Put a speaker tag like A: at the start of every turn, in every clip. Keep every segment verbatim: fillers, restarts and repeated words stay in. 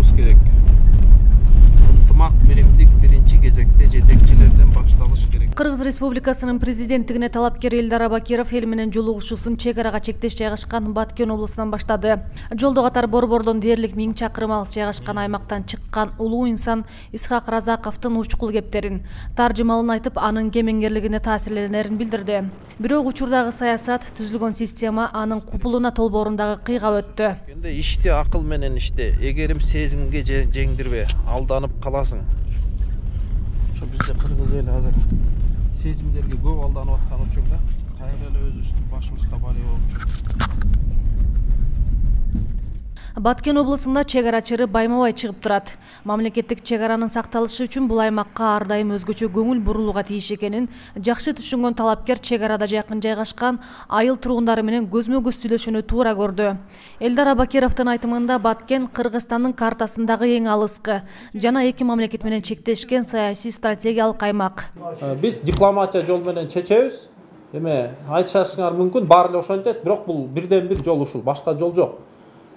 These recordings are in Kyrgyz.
A: башташыбыз керек. Ынтымак биримдик биринчи кезекте жетекчилерден башталыш керек.
B: Кыргыз Республикасынын президенттигине талапкер Элдар Абакиров эл менен жолугушуусун чек арага чектеш жайгашкан Баткен облусунан баштады. Жолдо катар Борбордон дээрлик миң чакырым алыс жайгашкан аймактан чыккан улуу инсан Исхак Разаковдун учкул кептерин, таржымалын айтып, анын кемеңгерлигине таасирленерин билдирди. Бирок учурдагы саясат, түзүлгөн система анын купулуна толбоорундагы кыйгап өттү.
A: Энди ишти акыл менен иште, эгерим сезимге жеңдирбе, алданып каласың. Ошо бизде кыргыз эли азыр сезимдерге көп алданып аткан учурда кайра эле өзүбүздүн башыбызга бали болуп.
B: Баткен облусунда чек ара чыры байма-бай чыгып турат. Мамлекеттик чек аранын сакталышы үчүн бул аймакка ар дайым өзгөчө көңүл бурулууга тийиш экенин жакшы түшүнгөн талапкер чек арада жакын жайгашкан айыл тургундары менен көзмө-көз сүйлөшүүнү туура көрдү. Элдар Абакировдун айтымында Баткен Кыргызстандын картасындагы эң алыскы жана эки мамлекет менен чектешкен саясий стратегиялык аймак.
C: Биз дипломатия жол менен чечебиз. Эме айтышыңар мүмкүн, баары эле ошентет, бирок бул бирден бир жол ушул, башка жол жок.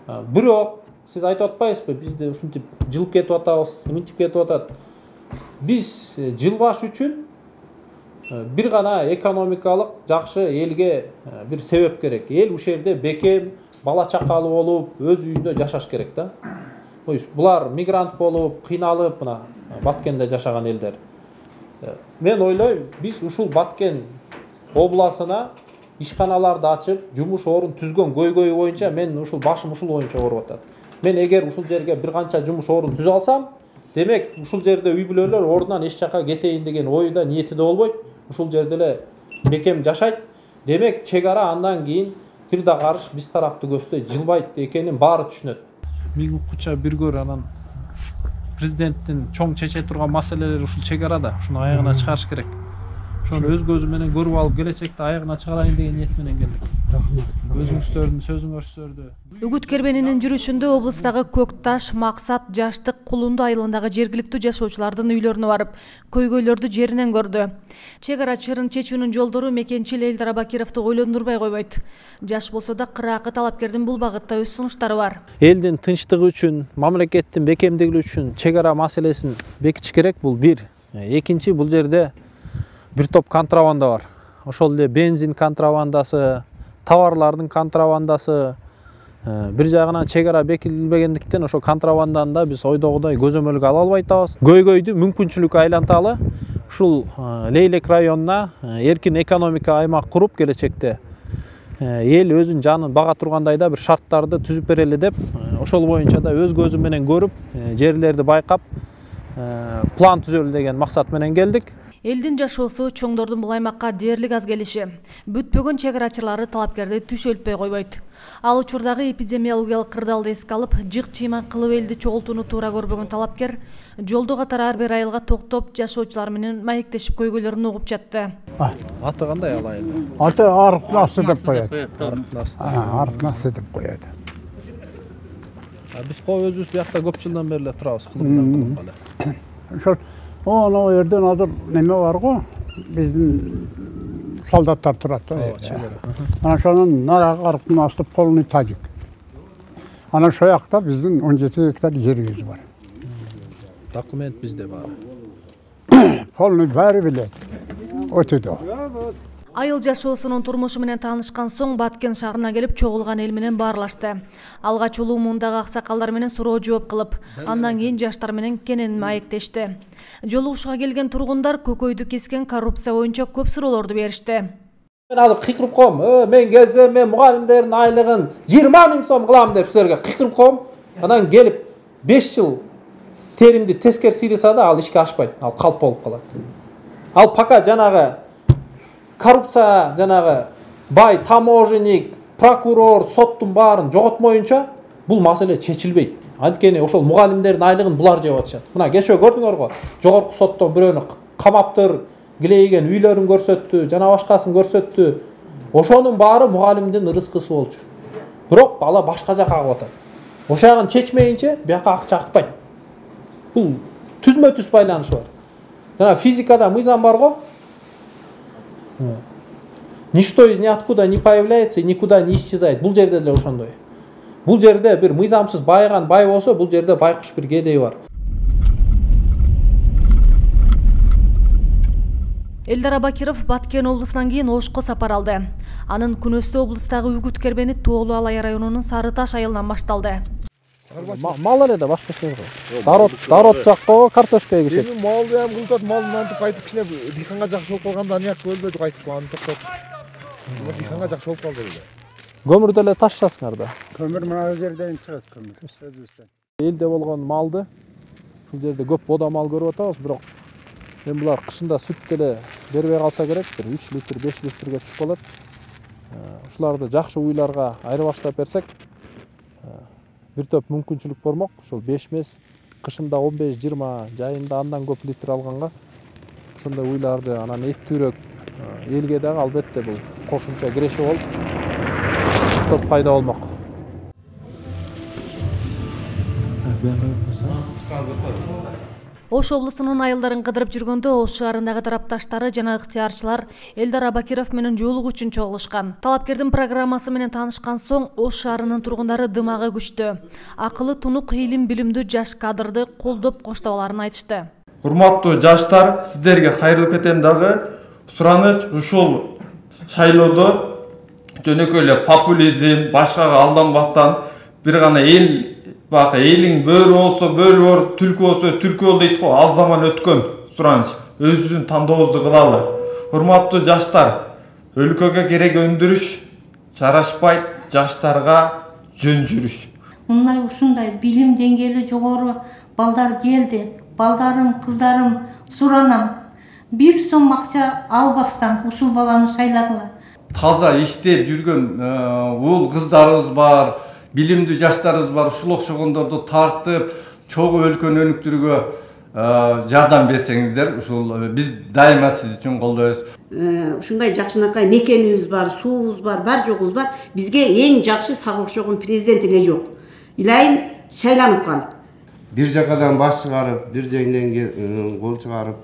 C: Бирок сиз айтып атпайсызбы, бизде ушинтип жылып кетип атабыз, мынтип кетип атат. Биз жылбаш үчүн бир гана экономикалык жакшы элге бир себеп керек. Эл ушул жерде бекем, бала чакалуу болуп, өз үйүндө жашаш керек да. Булар мигрант болуп, кыйналып, мына Баткенде жашаган элдер. Мен ойлойм, биз ушул Баткен обласына ишканаларды ачып, жумуш орун түзгөн көйгөй боюнча мен ушул башым ушул боюнча ооруп атат. Мен эгер ушул жерге бир канча жумуш орун түзө алсам, демек ушул жерде үй бүлөлөр ордунан эч жака кетейин деген оюда, ниети да болбойт. Ушул жерде эле бекем жашайт. Демек чек ара андан кийин бир да карыш биз тарапты көздөй жылбайт экенин баары түшүнөт.
A: Миң укча бир көр, анан президенттин чоң чече турган маселелери ушул чек арада, ушуну аягына чыгарыш керек. Ошону өз көзү менен көрүп алып, келечекте аягына чыгарайын деген ниет менен келдик. Өзүңүздөрдүн сөзүңөрдү.
B: Үгүт кербенинин жүрүшүндө облустагы Көк Таш, Максат, Жаштык, Кулунду айылындагы жергиликтүү жашоочулардын үйлөрүнө барып, көйгөйлөрдү жеринен көрдү. Чек ара чырын чечүүнүн жолдору мекенчил Элдар Абакировду ойлондурбай койбойт. Жаш болсо да кыраакы талапкердин бул багытта өз сунуштары бар.
C: Элдин тынчтыгы үчүн, мамлекеттин бекемдиги үчүн чек ара маселесин бекитиш керек, бул бир. Экинчи, бул жерде бир топ контрабанда бар. Ошол эле бензин контрабандасы, товарлардын контрабандасы. Бир жагынан чек ара бекитилбегендиктен ошо контрабанданы да биз ойдогудай көзөмөлгө ала албай атабыз. Көйгөйдү мүмкүнчүлүккө айланталы ушул Лейлек районуна эркин экономика аймак куруп, келечекте эл өзүнүн жанын бага тургандай да бир шарттарды түзүп берели деп, ошол боюнча да өз көзү менен көрүп, жерлерди байкап, план түзөлү деген максат менен келдик.
B: Элдин жашоосу, чоңдордун бул аймакка дээрлик аз келиши, бүтпөгөн чек арачылары талапкерди түшөлтпөй койбойт. Ал учурдагы эпидемиологиялык кырдаалды эске алып, жык-чыйман кылып элди чогултууну туура көрбөгөн талапкер жолдо катар ар бир айылга токтоп, жашоочулар менен маектешип көйгөйлөрүн угуп жатты.
A: Аты кандай ал айыл?
D: Аты Арык Насы деп коет.
A: Арык Насы.
D: Арык Насы деп коет.
A: Биз өзүбүз биякта көп жылдан бери эле турабыз, кылымдан кылып.
D: Ошол Оно жерден азыр неме бар го, биздин солдаттар турат да. Анан ошонун нарага Арыктын астып полный тажик. Анан ошол жакта биздин он жети гектар жерибиз бар.
A: Документ бизде бар.
D: Полный баары билет. Өтөдө.
B: Айыл жашоосунун турмушу менен таанышкан соң Баткен шаарына келип чогулган эл менен баарлашты. Алгач улуу муундагы аксакалдар менен суроо жооп кылып, андан кийин жаштар менен кенен маектешти. Жолугушууга келген тургундар көкөйдү кескен коррупция боюнча көп суроолорду беришти.
C: Мен азыр кыйкырып коем, мен келсем мен мугалимдердин айлыгын жыйырма миң сом кылам деп силерге кыйкырып коем. Анан келип беш жыл теримди тескер сыйласа да ал ишке ашпайт, ал калп болуп калат. Ал пока жанагы коррупция, жанагы бай таможенник, прокурор, соттун баарын жоготмоюнча бул маселе чечилбейт. Анткени ошол мугалимдердин айлыгын булар жеп атышат. Мына кечөө көрдүңөр го, жогорку соттон бирөөнү камаптыр, килейген үйлөрүн көрсөттү, жана башкасын көрсөттү. Ошонун баары мугалимдин ырыскысы болчу. Бирок бала башка жака агып атат. Ошол жагын чечмейинче бияка акча акпайт. Бул түзмө-түз байланышы бар. Жана физикада мыйзам бар го. Ничто из ниоткуда не появляется и никуда не исчезает. Бул жерде деле ошондой. Бул жерде бир мыйзамсыз байыган бай болсо, бул жерде байкуш бир кедей бар.
B: Элдар Абакиров Баткен облусунан кийин Ошко сапар алды. Анын күнөстүү облустагы үгүт кербени Тоолу Алай районунун Сары Таш айылынан башталды.
C: Мал эле да башка эч нерсе жок. Дарот, дарот жакка картошка эгишет.
E: Эми малды ham кылтат, малды антип кайтып кичине дыйканга жакшы болуп калганда аяк өлбөдү кайтып аны токтотуп. Дыйканга жакшы болуп калды эле.
C: Көмүрдү эле ташчасыңар да.
D: Көмүр мына жерден чыгат көмүр. Өзүбүздөн.
C: Элде болгон малды ушул жерде көп бода мал көрүп атабыз, бирок мен булар кышында сүт деле бербей калса керек, бир үч литр, беш литрге түшүп калат. Ушуларды жакшы уйларга айырбаштап берсек, бир топ мүмкүнчүлүк болмок. Ошол беш мес, кышында он беш жыйырма, жайында андан көп литр алганга ошондой уйларды анан эттүүрөөк элге дагы албетте бул кошумча киреше болуп топ пайда болмок.
B: Ош облусунун айылдарын кыдырып жүргөндө Ош шаарындагы тарапташтары жана ыктыярчылар Элдар Абакиров менен жолугуу үчүн чогулушкан. Талапкердин программасы менен таанышкан соң Ош шаарынын тургундары дымагы күчтү. Акылы тунук, илим билимдүү жаш кадрды колдоп коштоболарын айтышты.
F: Урматтуу жаштар, сиздерге кайрылып кетем дагы. Сураныч ушул шайлоодо жөнөкөй эле популизм, башкага алданбастан бир гана эл бак элиң бөрү болсо бөрү бор, түлкү болсо түлкү бол дейт го. Ал заман өткөн. Сураныч өзүбүздүн тандообузду кылалы. Урматтуу жаштар, өлкөгө керек өндүрүш жарашпайт, жаштарга жөн жүрүш.
G: Мындай ушундай билим деңгээли жогору балдар келди. Балдарым, кыздарым, суранам. Бир сом акча албастан ушул баланы шайлагыла.
H: Таза иштеп жүргөн уул кыздарыбыз бар, билимдүү жаштарыбыз бар. Ушул окшогондорду тартып, чогуу өлкөнү өнүктүрүүгө жардам берсеңиздер, ушул биз дайыма сиз үчүн колдойбуз.
I: Ушундай жакшынакай мекенибиз бар, суубуз бар, бар жогубуз бар. Бизге эң жакшы сага окшогон президент эле жок. Илайым шайланып кал.
E: Бир жакадан баш чыгарып, бир жеңден кол чыгарып,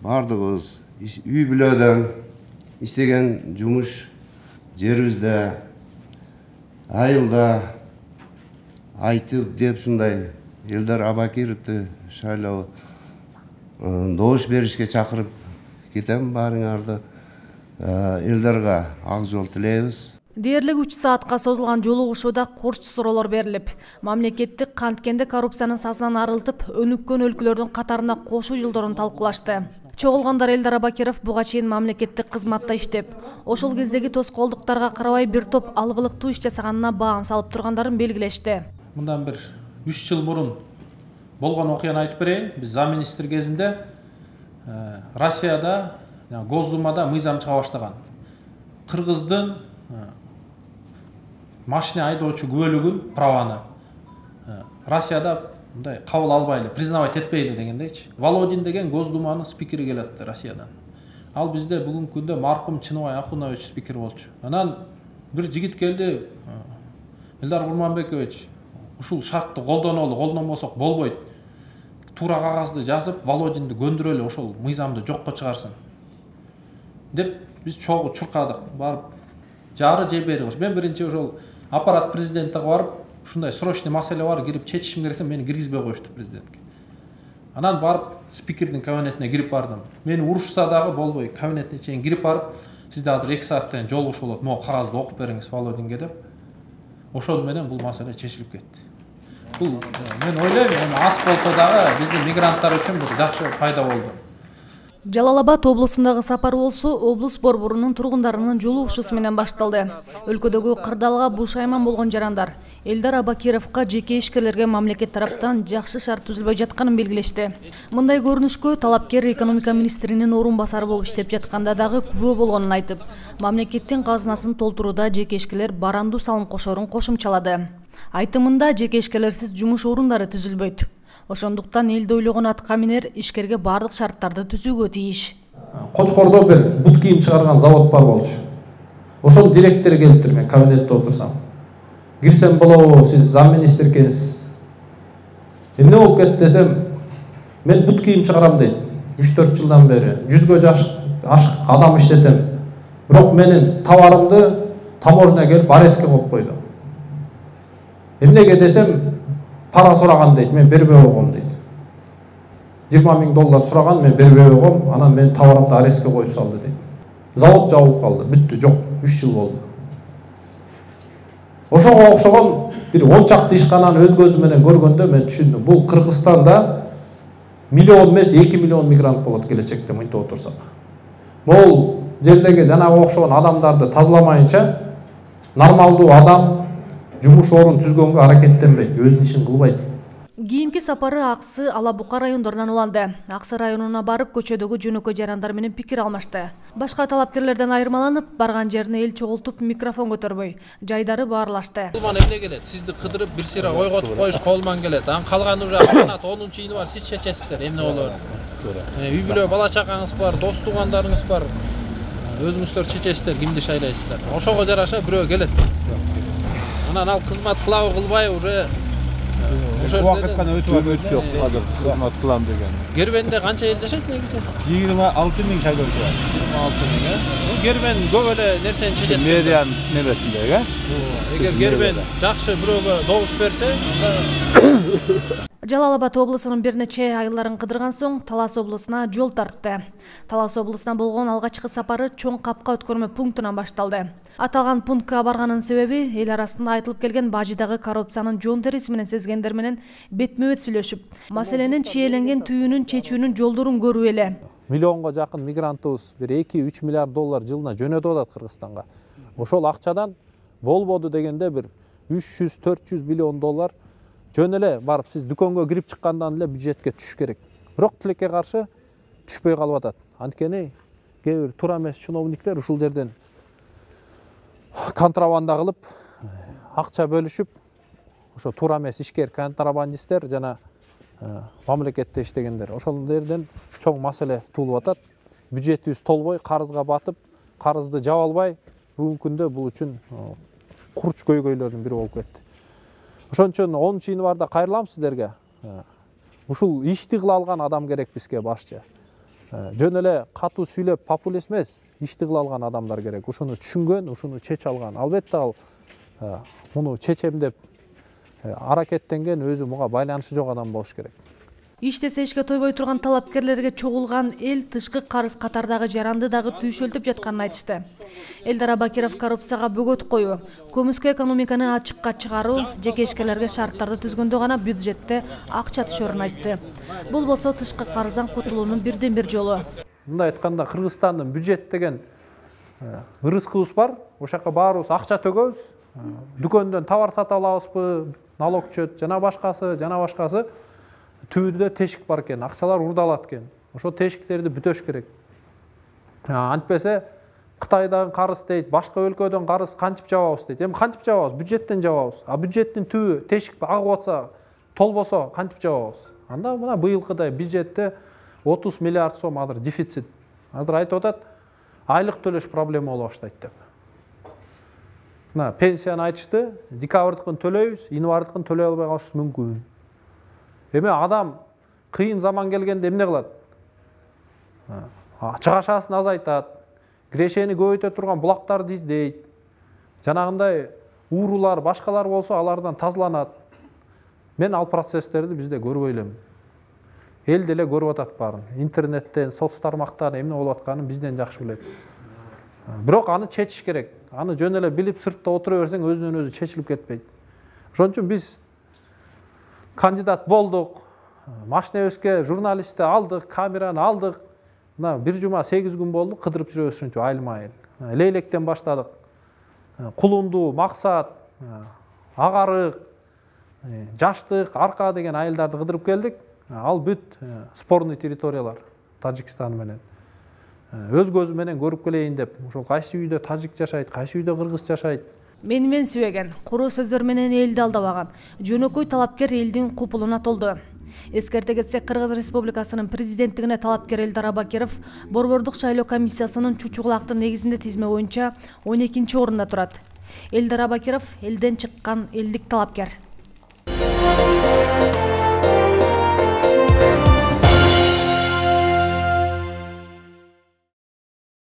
E: бардыгыбыз үй бүлөдөн иштеген жумуш жерибизде, айылда айтып деп ушундай Элдар Абакировду шайлоо добуш беришке чакырып кетем баарыңарды. Элдарга ак жол тилейбиз.
B: Дээрлик үч саатка созулган жолугушууда корч суроолор берилип, мамлекеттик канткенди коррупциянын сазынан арылтып, өнүккөн өлкөлөрдүн катарына кошуу жолдорун талкуулашты. Чогулгандар Элдар Абакиров буга чейин мамлекеттик кызматта иштеп, ошол кездеги тоскоолдуктарга карабай бир топ алгылыктуу иш жасаганына баам салып тургандарын белгилешти.
C: Мындан бир үч жыл мурун болгон окуяны айтып берейин. Биз замминистр кезинде Россияда, Госдумада мыйзам чыга баштаган. Кыргыздын машина айдоочу күбөлүгүн праваны Россияда мындай кабыл албайлы, признавать этпейли дегендейчи. Володин деген Госдуманын спикери келет Россиядан. Ал бизде бүгүнкү күндө маркум Чыныбай Акунович спикер болчу. Анан бир жигит келди, Элдар Курманбекович, ушул шартты колдонолу, колдонбосок болбойт. Туура кагазды жазып, Володинди көндүрөлү, ошол мыйзамды жокко чыгарсын деп биз чогуу чуркадык. Барып жары же бери кылыш. Мен биринчи ошол аппарат президентке барып, ушундай срочный маселе бар, кирип чечишим керек десем, мени киргизбей коюшту президентке. Анан барып спикердин кабинетине кирип бардым. Мени урушса дагы болбой, кабинетине чейин кирип барып, сизде азыр эки сааттан жолугуш болот, могу кагазды окуп бериңиз Володинге деп. Ошол менен бул маселе чечилип кетти. Бул мен ойлойм, эми аз болсо дагы биздин мигранттар үчүн бир жакшы пайда болду.
B: Жалал Абад облусундагы сапар болсо облус борборунун тургундарынын жолугушуусу менен башталды. Өлкөдөгү кырдаалга бушайман болгон жарандар Элдар Абакировго жеке ишкерлерге мамлекет тараптан жакшы шарт түзүлбөй жатканын белгилешти. Мындай көрүнүшкө талапкер экономика министринин орун басары болуп иштеп жатканда дагы күбө болгонун айтып, мамлекеттин казынасын толтурууда жеке ишкерлер барандуу салым кошорун кошумчалады. Айтымында жеке ишкерлерсиз жумуш орундары түзүлбөйт. Ошондуктан элди ойлогон атка минер ишкерге бардык шарттарды түзүүгө тийиш.
C: Кочкордо бир бут кийим чыгарган завод бар болчу. Ошол директори келиптир, мен кабинетте отурсам. Кирсем болобу, сиз замминистр экенсиз. Эмне болуп кетти десем, мен бут кийим чыгарам дейт. үч төрт жылдан бери жүзгө ашык адам иштетем. Бирок менин товарымды таможня келип арестке коюп койду. Эмнеге десем, пара сураган дейт, мен бербей койгом дейт. жыйырма миң доллар сураган, мен бербей койгом, анан мен товарымды арестке коюп салды дейт. Завод жабылып калды, бүттү, жок, үч жыл болду. Ошого окшогон бир он чакты ишкананы өз көзүм менен көргөндө мен түшүндүм. Бул Кыргызстанда миллион эмес, эки миллион мигрант болот келечекте мынтип отурсак. Могул жердеги жанагы окшогон адамдарды тазаламайынча нормалдуу адам жумуш орун түзгөнгө аракеттенбейт, өзүнүн ишин кылбайт.
B: Кийинки сапары Аксы, Ала Бука райондорунан уланды. Аксы районуна барып, көчөдөгү жөнөкөй жарандар менен пикир алмашты. Башка талапкерлерден айырмаланып, барган жерине эл чогултуп микрофон көтөрбөй, жайдары баарлашты.
C: Колман эмне келет? Сизди кыдырып бир сыйра койготуп коюш колман келет. Анан калганы уже канат онунчу июнь бар, сиз чечесиздер эмне болор. Үй бүлө, бала чакаңыз бар, дос туугандарыңыз бар. Өзүңүздөр чечесиздер, кимди шайлайсыздар. Ошого жараша бирөө келет. Анан ал кызмат кылабы кылбайбы уже
J: убакыткан өтүп атат жок, азыр кызмат кылам деген.
C: Гербенде канча эл жашайт негизи?
J: жыйырма алты миң шайлоочу бар.
C: жыйырма алты миң, э? Бул Гербен көп эле нерсени чечет.
J: Мэриянын немесинде, э?
C: Эгер Гербен жакшы бирөөгө добуш берсе, анда
B: Жалал Абад облусунун бир нече айылдарын кыдырган соң Талас облусуна жол тартты. Талас облусуна болгон алгачкы сапары чоң капка өткөрмө пунктунан башталды. Аталган пунктка барганын себеби эл арасында айтылып келген бажыдагы коррупциянын жон териси менен сезгендер менен бетме-бет сүйлөшүп, маселенин чийеленген түйүнүн чечүүнүн жолдорун көрүү эле.
C: Миллионго жакын мигрантыбыз бир эки үч миллиард доллар жылына жөнөтүп атат Кыргызстанга. Ошол акчадан болбоду дегенде бир үч жүз төрт жүз миллион доллар жөн эле барып сиз дүкөнгө кирип чыккандан эле бюджетке түшүш керек. Бирок тилекке каршы түшпөй калып атат. Анткени кээ бир туура эмес чиновниктер ушул жерден контрабанда кылып, акча бөлүшүп, ошо туура эмес ишкер контрабандисттер жана мамлекетте иштегендер. Ошол жерден чоң маселе туулуп атат. Бюджетибиз толбой, карызга батып, карызды жаба албай, бүгүнкү күндө бул үчүн курч көйгөйлөрдүн бири болуп кетти. Ошон үчүн онунчу январда кайрылам сиздерге. Ушул ишти кыла алган адам керек бизге башчы. Жөн эле катуу сүйлөп популист эмес, ишти кыла алган адамдар керек. Ушуну түшүнгөн, ушуну чече алган. Албетте ал муну чечем деп аракеттенген, өзү муга байланышы жок адам болуш керек.
B: Иштесе ишке тойбой турган талапкерлерге чогулган эл тышкы карыз катардагы жаранды дагы түйшөлтүп жатканын айтышты. Элдар Абакиров коррупцияга бөгөт коюу, көмүскө экономиканы ачыкка чыгаруу, жеке ишкерлерге шарттарды түзгөндө гана бюджетте акча түшөрүн айтты. Бул болсо тышкы карыздан кутулуунун бирден бир жолу.
C: Мындай айтканда Кыргызстандын бюджет деген ырыскыбыз бар. Ошол жака баарыбыз акча төгөбүз. Дүкөндөн товар сатып алабызбы, налог чөт, жана башкасы, жана башкасы. Түбүдө тешик бар экен, акчалар урдалат экен. Ошо тешиктерди бүтөш керек. Антпесе Кытайдан карыз дейт, башка өлкөдөн карыз кантип жабабыз дейт. Эми кантип жабабыз? Бюджеттен жабабыз. А бюджеттин түбү тешик агып атса, толбосо кантип жабабыз? Анда мына быйылкыдай бюджетте отуз миллиард сом азыр дефицит. Азыр айтып атат, айлык төлөш проблема боло баштайт деп. Мына пенсияны айтышты, декабрдыкын төлөйбүз, январдыкын төлөй албай калышыбыз мүмкүн. Эми адам кыйын заман келгенде эмне кылат? Чыгашасын азайтат, кирешени көбөйтө турган булактарды издейт. Жанагындай уурулар, башкалар болсо алардан тазаланат. Мен ал процесстерди бизде көрбөй элем. Эл деле көрүп атат баарын. Интернеттен, соц тармактан эмне болуп атканын бизден жакшы билет. Бирок аны чечиш керек. Аны жөн эле билип сыртта отура берсең өзүнөн өзү чечилип кетпейт. Ошон үчүн биз кандидат болдук, машинебизге журналистти алдык, камераны алдык. Мына бир жума сегиз күн болду, кыдырып жүрөбүз ушинтип айылма-айыл. Лейлектен баштадык. Кулунду, Максат, Агарык, Жаштык, Арка деген айылдарды кыдырып келдик. Ал бүт спорный территориялар Тажикстан менен. Өз көзүм менен көрүп келейин деп, ошол кайсы үйдө тажик жашайт, кайсы үйдө кыргыз жашайт.
B: Мени мен сүйбөгөн, куруу сөздөр менен элди алдабаган, жөнөкөй талапкер элдин купулуна толду. Эскерте кетсек, Кыргыз Республикасынын президенттигине талапкер Элдар Абакиров Борбордук шайлоо комиссиясынын чучугулактын негизинде тизме боюнча он экинчи орунда турат. Элдар Абакиров элден чыккан элдик талапкер.